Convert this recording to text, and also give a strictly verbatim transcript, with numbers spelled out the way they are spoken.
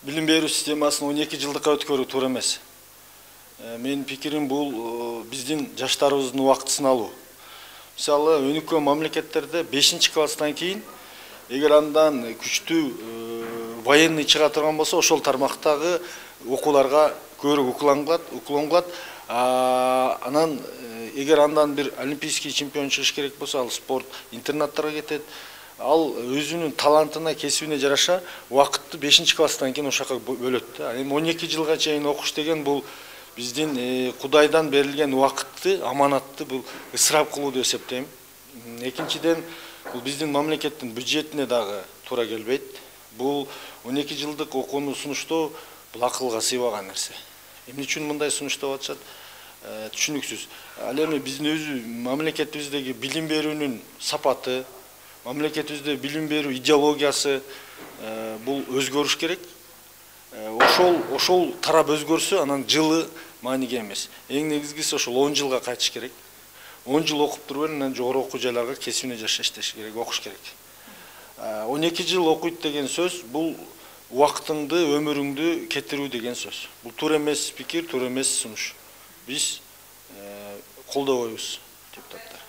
билим берүү системасын он эки жылдыкка өткөрүү туура эмес. Менин пикирим бул биздин жаштарыбыздын убактысын алуу. Мисалы, өнүккөн мамлекеттерде бешинчи класстан кийин эгер андан күчтүү военный чыга турган болсо, ошол тармактагы окууларга көбүрөөк уклангылат, уклонгулат. Анан эгер андан бир олимпийский чемпион чыгыш керек болсо, ал спорт интернаттарга кетет. Ал өзүнүн талантына, кесибине жараша убакытты бешинчи класстан кийин ошака бөлөт. Эми он эки жылга чейин окуш деген бул биздин Кудайдан берилген убакытты, аманатты бул ысырап кылуу деп эсептейм. Экинчиден, бул биздин мамлекеттин бюджетине дагы туура келбейт. Бул он эки жылдык окууну сунуштоо бул акылга сыйбаган нерсе. Эмне үчүн мындай сунуштап атышат? Түшүнүксүз. Ал эми биздин өзү мамлекетибиздеги билим берүүнүн сапаты, мамлекетибизде билим берүү идеологиясы бул өзгөрүш керек. Ошол ошол тарап өзгөрсө, анан жылы мааниге эмес. Эң негизгиси ошол он жылга кайтыш керек. он жыл окуп туруп, анан жогору окуу жайларга кесибине жараша иштеш керек, окуш керек. он эки жыл окуйт деген сөз бул убактыңды, өмүрүңдү кетирүү деген сөз. Бул туура эмес пикир, туура эмес сунуш. Биз колдобойбуз, депутаттар.